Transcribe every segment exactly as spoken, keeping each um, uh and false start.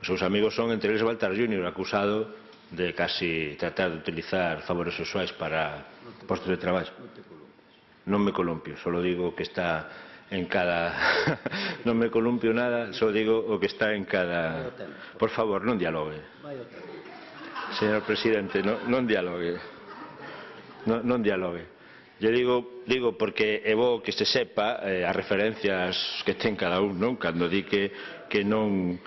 Os seus amigos son, entre eles, Baltar júnior, acusado de casi tratar de utilizar favores sexuais para postos de traballo. Non me columpio, só digo que está en cada... non me columpio nada, só digo o que está en cada... Por favor, non dialogue. Señor Presidente, non, non dialogue. Non, non dialogue. Yo digo, digo porque é bo que se sepa eh, as referencias que ten cada un, non? Cando di que, que non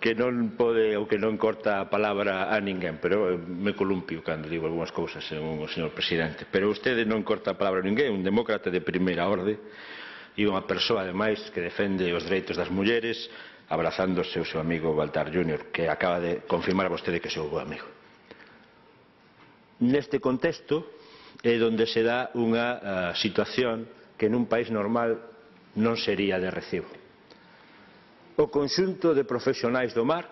que non pode ou que non corta a palabra a ninguén, pero me columpio cando digo algunhas cousas, según o señor Presidente. Pero vostede non corta a palabra a ninguén, un demócrata de primeira orde e unha persoa, ademais, que defende os dereitos das mulleres, abrazándose o seu amigo Baltar júnior, que acaba de confirmar a vostede que é o seu bo amigo. Neste contexto é onde se dá unha uh, situación que nun país normal non sería de recibo. O conxunto de profesionais do mar,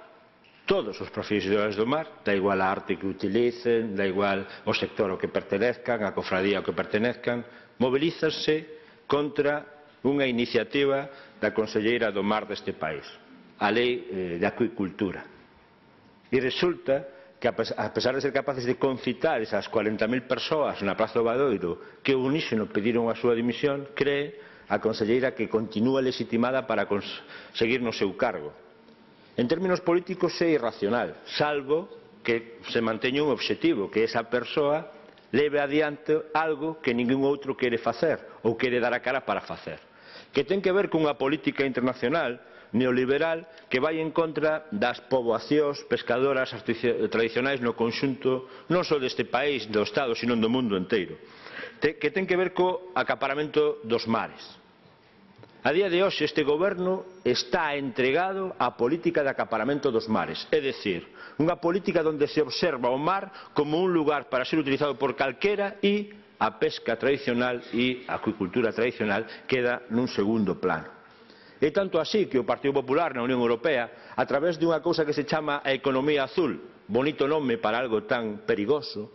todos os profesionais do mar, da igual a arte que utilicen, da igual o sector ao que pertenezcan, a cofradía ao que pertenezcan, mobilízanse contra unha iniciativa da conselleira do mar deste país, a Lei eh, de Acuicultura. E resulta que a pesar de ser capaces de concitar esas cuarenta mil persoas na Praza do Obradoiro que ao unísono pediron a súa dimisión, cree a conselleira que continúa legitimada para seguir no seu cargo. En términos políticos é irracional, salvo que se manteña un obxectivo, que esa persoa leve adiante algo que ningún outro quere facer ou quere dar a cara para facer, que ten que ver cunha política internacional neoliberal que vai en contra das poboacións pescadoras tradicionais no conxunto non só deste país, do Estado, sino do mundo inteiro, que ten que ver co acaparamento dos mares. A día de hoxe este goberno está entregado á política de acaparamento dos mares, é dicir, unha política onde se observa o mar como un lugar para ser utilizado por calquera e a pesca tradicional e a acuicultura tradicional queda nun segundo plano. É tanto así que o Partido Popular na Unión Europea, a través de unha cousa que se chama a economía azul, bonito nome para algo tan perigoso,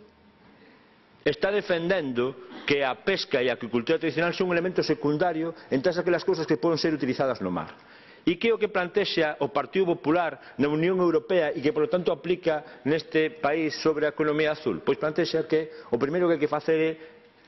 está defendendo que a pesca e a acuicultura tradicional son un elemento secundario en todas aquelas cousas que poden ser utilizadas no mar. E que é o que plantexa o Partido Popular na Unión Europea e que, por lo tanto, aplica neste país sobre a economía azul? Pois plantexa que o primeiro que hai que facer é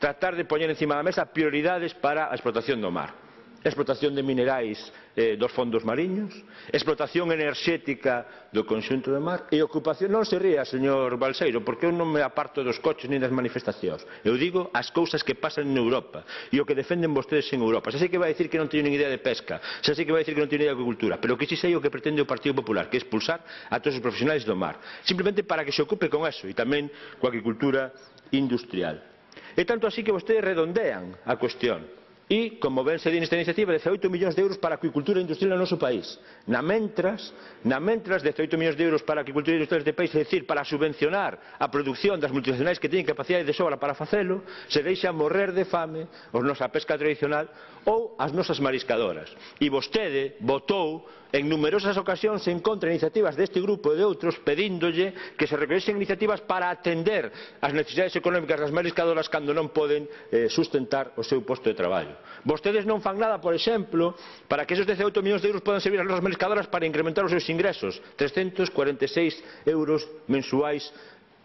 tratar de poñer encima da mesa prioridades para a explotación do mar. Explotación de minerais eh, dos fondos mariños, explotación enerxética do conxunto do mar e ocupación. Non se ría, señor Balseiro, porque eu non me aparto dos coches nin das manifestacións. Eu digo as cousas que pasan en Europa e o que defenden vostedes en Europa. Xa sei que vai dicir que non teño nin idea de pesca, xa sei que vai dicir que non teño idea de agricultura, pero que si sei o que pretende o Partido Popular, que é expulsar a todos os profesionais do mar, simplemente para que se ocupe con eso e tamén coa agricultura industrial. É tanto así que vostedes redondean a cuestión. E, como ben se di nesta iniciativa, dezaoito millóns de euros para a acuicultura industrial no noso país. Na mentras, na mentras, dezaoito millóns de euros para a acuicultura industrial deste país, é dicir, para subvencionar a produción das multinacionais que teñen capacidade de sobra para facelo, se deixa morrer de fame a nosa pesca tradicional ou as nosas mariscadoras. E vostede votou en numerosas ocasións en contra de iniciativas deste grupo e de outros pedíndolle que se recollesen iniciativas para atender as necesidades económicas das mariscadoras cando non poden eh, sustentar o seu posto de traballo. Vostedes non fan nada, por exemplo, para que esos dezaoito millóns de euros podan servir ás nosas mariscadoras para incrementar os seus ingresos, trescentos cuarenta e seis euros mensuais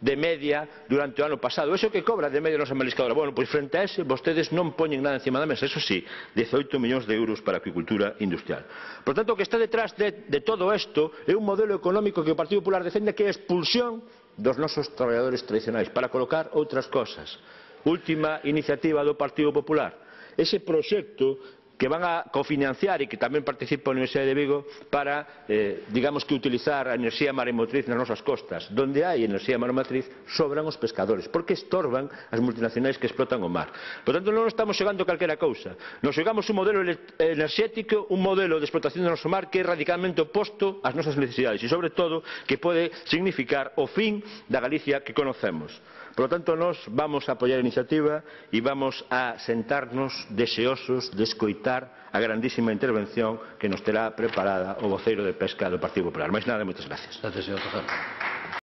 de media durante o ano pasado. Eso que cobra de media a nosa mariscadora. Bueno, pois frente a ese, vostedes non poñen nada encima da mesa. Eso sí, dezaoito millóns de euros para a acuicultura industrial. Por tanto, o que está detrás de, de todo isto é un modelo económico que o Partido Popular defende, que é a expulsión dos nosos traballadores tradicionais para colocar outras cosas. Última iniciativa do Partido Popular. Ese proxecto que van a cofinanciar e que tamén participa a Universidade de Vigo para, eh, digamos que utilizar a enerxía maremotriz nas nosas costas. Donde hai enerxía maremotriz sobran os pescadores, porque estorban as multinacionais que explotan o mar. Por tanto, non estamos xogando calquera cousa. Nos xogamos un modelo enerxético, un modelo de explotación do noso mar que é radicalmente oposto ás nosas necesidades e, sobre todo, que pode significar o fin da Galicia que conocemos. Por lo tanto, nós vamos a apoiar a iniciativa e vamos a sentarnos deseosos de escoitar a grandísima intervención que nos terá preparada o voceiro de pesca do Partido Popular. Mais nada, moitas gracias. Gracias, señor Tejero.